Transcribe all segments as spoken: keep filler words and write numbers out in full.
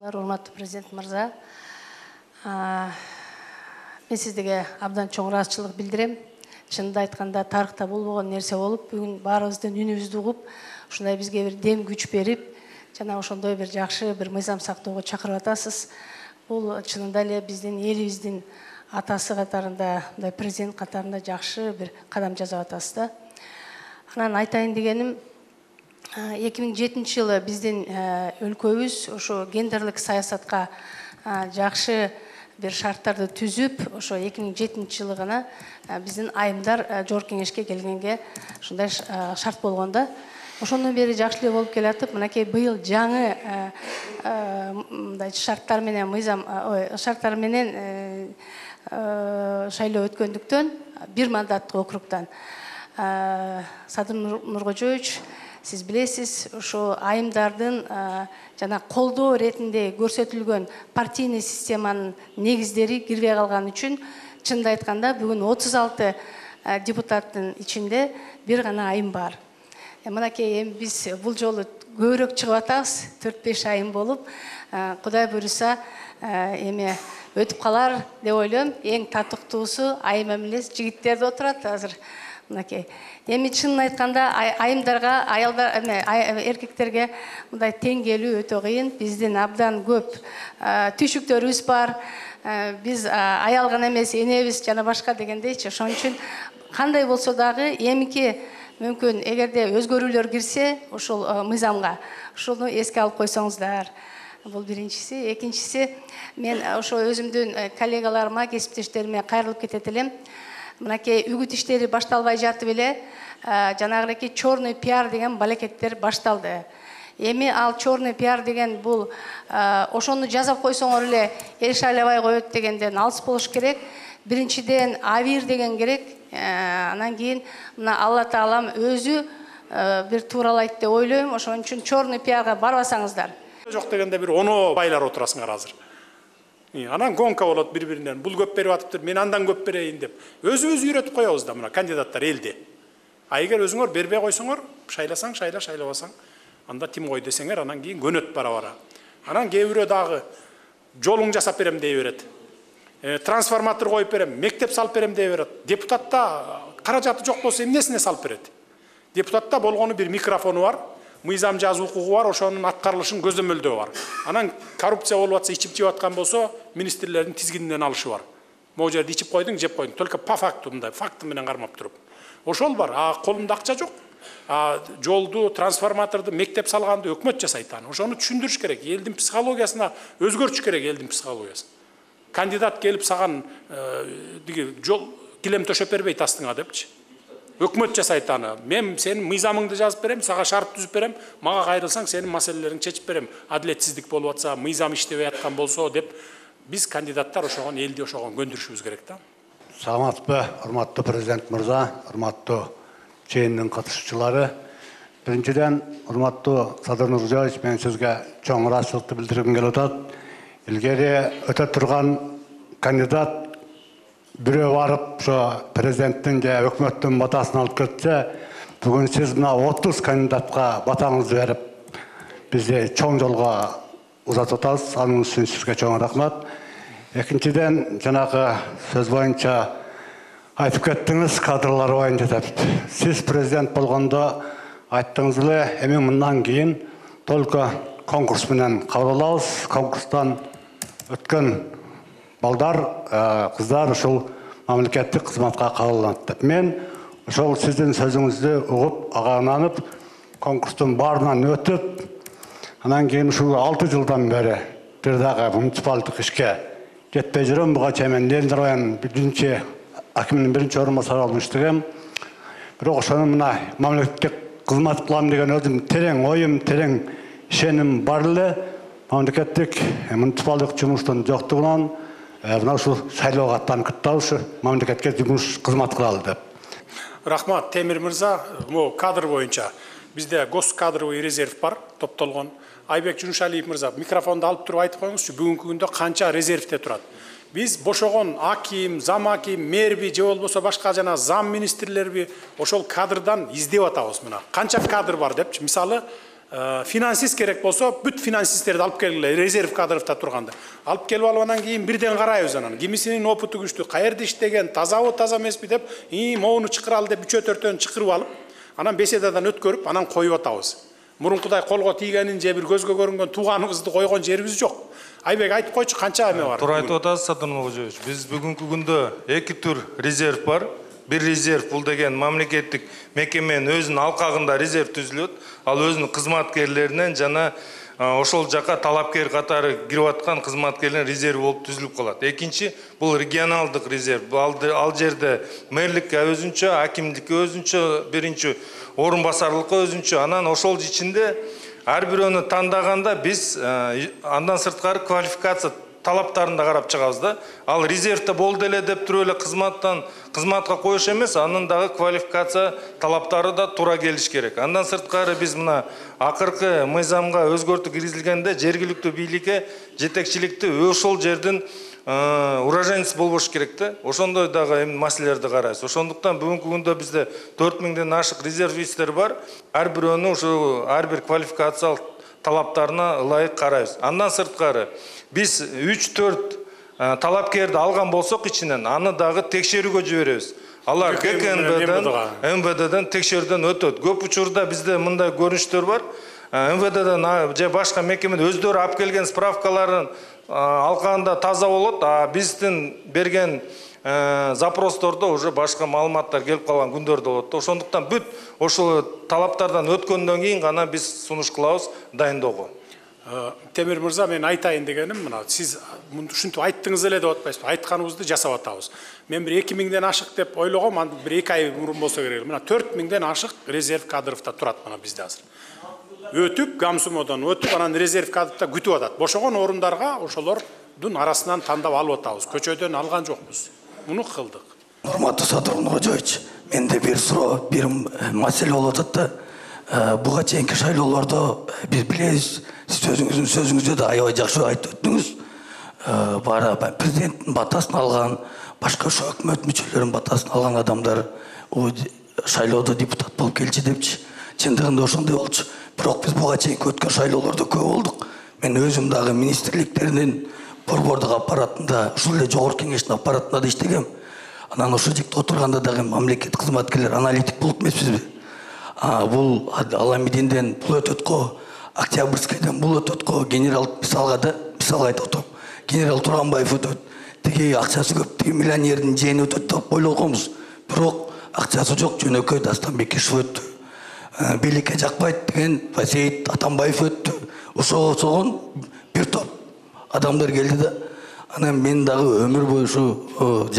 Урматтуу президент мырза, мен сиздерге абдан чоң ыраазычылык билдирем. Чынында айтканда тарыхта болбогон нерсе болуп, бүгүн баарыбыздын үнүбүздү угуп, ушундай бизге бир дем күч берип, жана ошондой бир жакшы бир мыйзам сактоого чакырып атасыз. Бул чынында эле биздин элибиздин атасы катарында, мындай президент катарында жакшы бир кадам жасап атасыз да. Анан айтайын дегеним, эки миң жетинчи жылы биздин өлкөбүз ошо гендерлик саясатка жакшы бир шарттарды түзүп, ошо эки миң жетинчи жылы гана биздин айымдар Жогорку Кеңешке келгенге ушундай шарт болгон да. Ошондон бери жакшы эле болуп келатып, мынакей быйыл жаңы мындай шарттар менен мыйзам, ой, шарттар менен шайлоо өткөндүктөн бир мандаттык округтан Садыр Нуркожоевич, сиз билесиз, ошо айымдардын жана колдоо иретинде көрсөтүлгөн партийный системанын негиздери кирбей калган үчүн, чынында айтканда бүгүн отуз алты депутаттын ичинде бир гана айым бар. Мынакей эми биз бул жолу көбүрөөк чыгып атабыз, төрт беш айым болуп, Кудай буйруса эми өтүп калар деп ойлойм. Эң татыктуусу айым эмес жигиттерде отурат азыр. Мынакей. Эми чынын айтканда айымдарга, аялдар, эркектерге мындай тең келүү өтө кыйын. Биздин абдан көп түйшүктөрүбүз бар. Биз аял гана эмес, энебиз жана башка дегендейчи. Ошон үчүн кандай болсо дагы эмики мүмкүн эгерде өзгөрүүлөр кирсе, ошол мыйзамга, ошону эске алып койсоңуздар. Бул биринчиси. Экинчиси, мен ошо өзүмдүн коллегаларыма, кесиптештериме кайрылып кетет элем. Мынакей үгүт иштери башталбай жатып эле, жанагыраки черный пиар деген балекеттер башталды. Эми ал черный пиар деген бул ошону жазап койсоңор эле эл шайлабай коет дегенден алыс болуш керек. Биринчиден авир деген керек. Анан кийин мына Алла Таалам өзү бир тууралайт деп ойлойм. Ошон үчүн черный пиарга барбасаңыздар. Жок дегенде бир оноо байлар отурасыңар азыр. Анан гонка болот бири-биринен. Бул көп берип атыптыр, мен андан көп берейин деп. Өзүбүз үйрөтүп коебуз да мына кандидаттар элде. А эгер өзүңөр бербей койсоңор, шайласаң шайла, шайлабасаң, анда тим кой десеңер, анан кийин көнөт бара-бара. Анан кээ бирөө дагы жолуң жасап берем дей берет. Трансформатор коюп берем, мектеп салып берем дей берет. Депутатта каражаты жок болсо эмнесине салып берет? Депутатта болгону бир микрофону бар, мыйзам жазуу укугу бар, ошонун аткарылышын көзөмөлдөө бар. Анан коррупция болуп атса, ичип жеп аткан болсо, министрлердин тизгининен алышы бар. Могу жерде ичип койдуң, жеп койдуң, только по факту мындай, факты менен кармап туруп. Ошол бар, а колунда акча жок. А жолду, трансформаторду, мектеп салганды өкмөт жасайт аны. Ошону түшүндүрүш керек. Элдин психологиясына өзгөртүш керек, элдин психологиясын. Кандидат келип саган жол килем төшөп бербейт астыңа депчи. Өкмөт жасайт аны. Мен сенин мыйзамыңды жазып берем, сага шарт түзүп берем, мага кайрылсаң сенин маселелериңди чечип берем. Адилетсиздик болуп атса, мыйзам иштебей аткан болсо деп биз кандидаттар ошогон элди ошогон көндүрүшүбүз керек да. Саламатсызбы, урматтуу президент мырза, урматтуу чейиндин катышуучулары. Биринчиден, урматтуу Садыр Нуркожоевич, мен сизге чоң ыраазычылыкты билдиргим келип атат. Илгери өтө турган кандидат бирөө барып, ошо президенттин же өкмөттүн батасын алып кетсе, бүгүн сиз мына отуз кандидатка батаңызды берип, бизди чоң жолго узатып атасыз. Анын үчүн сизге чоң рахмат. Экинчиден, жанагы сөз боюнча айтып кеттиңиз, кадрлар боюнча деп. Сиз президент болгондо айттыңыз эле, эми мындан кийин только конкурс менен кабыл алабыз. Конкурстан өткөн балдар, кыздар ушул мамлекеттик кызматка кабылданат деп. Мен ошол сиздин сөзүңүздү угуп, ага ынанып, конкурстун баарынан өтүп, анан кийин ушул алты жылдан бери бир дагы муниципалдык ишке жетпей жүрөм. Буга чейин мен Ленин районунун биринчи акимдин биринчи орун басары болуп иштегем. Бирок ошону мына мамлекеттик кызмат кылам деген өзүм терең оюм, терең ишеним бар эле. Мамлекеттик муниципалдык жумуштун жоктугунан мына ушул шайлоого аттанып кеттабыз, мамлекетке жумуш кызмат кылалы деп. Рахмат, Темир мырза. Могу кадр боюнча бизде госкадровый резерв бар, топтолгон. Айбек Жунушалиев мырза, микрофонду алып туруп айтып коюңузчу, бүгүнкү күндө канча резервде турат? Биз бошогон аким, зам аким, мэрби же болбосо башка жана зам министрлерби ошол кадрдан издеп атабыз мына. Канча кадр бар депчи. Мисалы, финансист керек болсо бүт финансисттерди алып келгиле, резерв кадровда турганда алып келип алып анан кийин бирден карайбыз анан кимисинин опыту күчтүү, каерде иштеген, тазабы таза эмеспи деп и могуну чакыралы деп үчөө төртөөнү чакырып алып анан беседадан өткөрүп анан коюп атабыз. Мурункудай колго тийгенин же бир көзгө көрүнгөн тууганыбызды койгон жерибиз жок. Айбек айтып койчу канча эме бар? Туура айтып атасыз Садыр Нуркожоевич. Биз бүгүнкү күндө эки түр резерв бар. Бир резерв бул деген мамлекеттик мекеменин өзүнүн алкагында резерв түзүлөт. Ал өзүнүн кызматкерлеринен жана ошол жака талапкер катары кирип аткан кызматкерлердин резерви болуп түзүлүп калат. Экинчи бул регионалдык резерв. Ал жерде мэрликке өзүнчө, акимдикке өзүнчө, биринчи орун басарлыкка өзүнчө, анан ошол ичинде ар бирөөнү тандаганда биз андан сырткары квалификация талаптарын да карап чыгабыз да. Ал резервде болду эле деп туруп эле кызматтан кызматка коюш эмес, анын дагы квалификация талаптары да туура келиш керек. Андан сырткары биз мына акыркы мыйзамга өзгөртүү киргизилгенде жергиликтүү бийликке жетекчиликти ошол жердин уроженец болбош керек да. Ошондой дагы маселелерди карайбыз. Ошондуктан бүгүнкү күндө бизде төрт миңден ашык резервисттер бар. Ар бирөөнү ушу ар бир квалификациялык талаптарына ылайык карайбыз. Андан сырткары биз үч төрт талапкерди алган болсок ичинен аны дагы текшерүүгө жиберебиз. Алар ККНБден, МВДден текшерүүдөн өтөт. Көп учурда бизде мындай көрүнүштөр бар. МВДден же башка мекемеден өздөрү алып келген справкаларын алканда таза болот, а биздин берген запростордо уже башка маалыматтар келип калган күндөр да болот. Ошондуктан бүт ошол талаптардан өткөндөн кийин гана биз сунуш кылабыз дайындоого. Темир мырза, мен айтайын дегеним мына сиз ушинтип айттыңыз эле деп атпайсызбы? Айтканыбызды жасап атабыз. Мен бир эки миңден ашык деп ойлогом, анда бир эки ай мурун болсо керек. Мына төрт миңден ашык резерв кадровда турат мына бизде азыр. Өтүп, Гамсумодон өтүп, анан резерв кадровда күтүп атат. Бошогон орундарга ошолордун арасынан тандап алып атабыз. Көчөдөн алган жокпуз. Муну кылдык. Урматтуу Садыр Нуркожоевич, менде бир суроо, бир маселе болуп атат да. Буга чейинки шайлоолордо биз билебиз, сиз өзүңүздүн сөзүңүздө да аябай жакшы айтып өттүңүз. Бара президенттин батасын алган, башка ошо өкмөт мүчөлөрүнүн батасын алган адамдар шайлоодо депутат болуп келчи депчи. Чындыгында ошондой болчу. Бирок биз буга чейинки өткөн шайлоолордо көп болдук. Мен өзүм дагы министрликтердин борбордук аппаратында, ушул эле жогорку кеңештин аппаратында да иштегем. Анан ошол жерде отурганда дагы мамлекет кызматкерлер аналитик болуп эмеспизби? Бул Аламидинден бул өтөт го, Октябрьскийден бул өтөт го, генерал мисалга да, мисал айтып атам. Генерал Туранбаев өтөт, тиги акчасы көп, тиги миллионердин жээни өтөт деп ойлогонбуз. Бирок акчасы жок, жөнөкөй Дастан Бекишев өттү. Бийликке жакпайт деген Сейит Атамбаев өттү. Ошогон бир топ адамдар келди да. Анан мен дагы өмүр бою ушу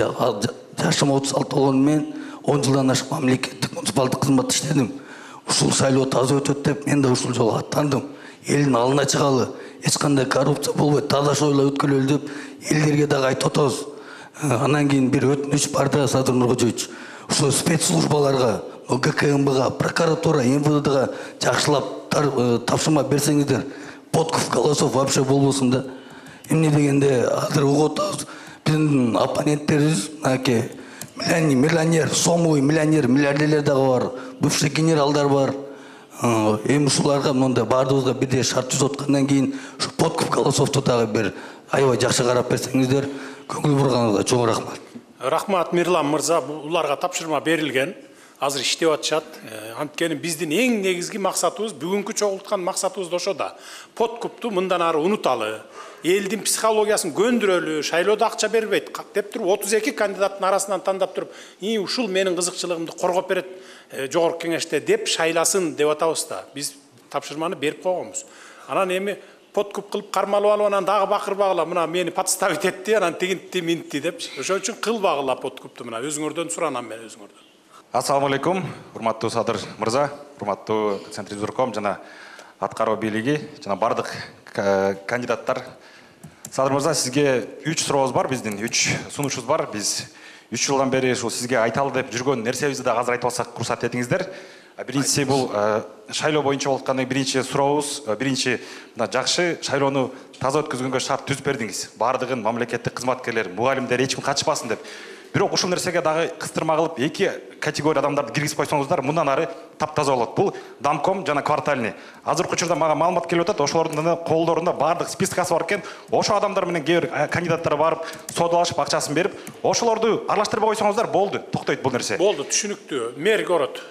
жашым отуз алты болгону менен он жылдан ашык мамлекеттик муниципалдык кызматта иштедим. Ушул шайлоо таза өтөт деп мен да ушул жолго аттандым. Элдин алдына чыгалы, эч кандай коррупция болбойт, таза шойлоо өткөрөлү деп элдерге дагы айтып атабыз. Анан кийин бир өтүнүч бар да, Садыр Нуркожоевич. Ушул спецслужбаларга, ГКМБга, прокуратура, МВДга жакшылап тапшырма берсеңиздер, подкуп голосов вообще болбосун да. Эмне дегенде азыр угуп атабыз. Биздин оппоненттерибиз мынакей миллионер, сомовый миллионер, миллиардерлер дагы бар, бывший генералдар бар. Эми ушуларга мындай баардыгыбызга бирдей шарт түзүп аткандан кийин ушу подкуп голосовду дагы бир аябай жакшы карап берсеңиздер, көңүл бурганыңызга чоң рахмат. Рахмат Мирлан мырза, буларга тапшырма берилген. Азыр иштеп атышат. Анткени биздин эң негизги максатыбыз, бүгүнкү чогулткан максатыбыз да ошо да. Подкупту мындан ары унуталы, элдин психологиясын көндүрөлү, шайлоодо акча бербейт деп туруп отуз эки кандидаттын арасынан тандап туруп, "И, ушул менин кызыкчылыгымды коргоп берет жогорку кеңеште" деп шайласын деп атабыз да. Биз тапшырманы берип койгонбуз. Анан эми подкуп кылып кармалып алып анан дагы бакырбагыла, мына мени подставить этти, анан тигинти минти депчи. Ошон үчүн кылбагыла подкупту, мына өзүңөрдөн суранам мен өзүңөрдөн. Ассаламу алейкум, урматтуу Садыр мырза, урматтуу Центризорком жана аткаруу бийлиги жана бардык кандидаттар. Садыр мырза, сизге үч сурообуз бар, биздин үч сунушубуз бар. Биз үч жылдан бери ушул сизге айталы деп жүргөн нерсебизди да азыр айтып алсак уруксат этиңиздер. Биринчиси бул шайлоо боюнча болуп аткан биринчи сурообуз, биринчи мына жакшы шайлоону таза өткөзгөнгө шарт түзүп бердиңиз. Бардыгын мамлекеттик кызматкерлер, мугалимдер эч ким катышпасын деп. бирок ушул нерсеге дагы кыстырма кылып эки категория адамдарды киргизип койсоңуздар мындан ары таптаза болот. Бул домком жана квартальный. Азыркы учурда мага маалымат келип атат, ошолордун колдорунда баардык спискасы бар экен. Ошо адамдар менен кээ бир кандидаттар барып соодалашып акчасын берип, ошолорду аралаштырбай койсоңуздар болду, токтойт бул нерсе. Болду, түшүнүктүү. Мэр город,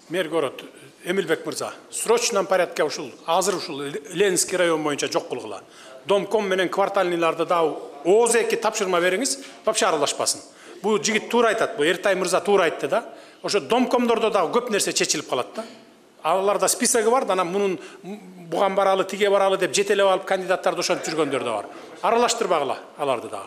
мэр город Эмилбек мырза, срочном порядке ушул азыр ушул Ленинский район боюнча жок кылгыла. Домком менен квартальныйларды да ооз эки тапшырма бериңиз, вообще аралашпасын. Бул жигит туура айтат, бул Эртай мырза туура айтты да. Ошо домкомдордо дагы көп нерсе чечилип калат да. Аларда списоги бар, анан мунун буган баралы, тиге баралы деп жетелеп алып кандидаттарды ошентип жүргөндөр да бар. Аралаштырбагыла аларды дагы.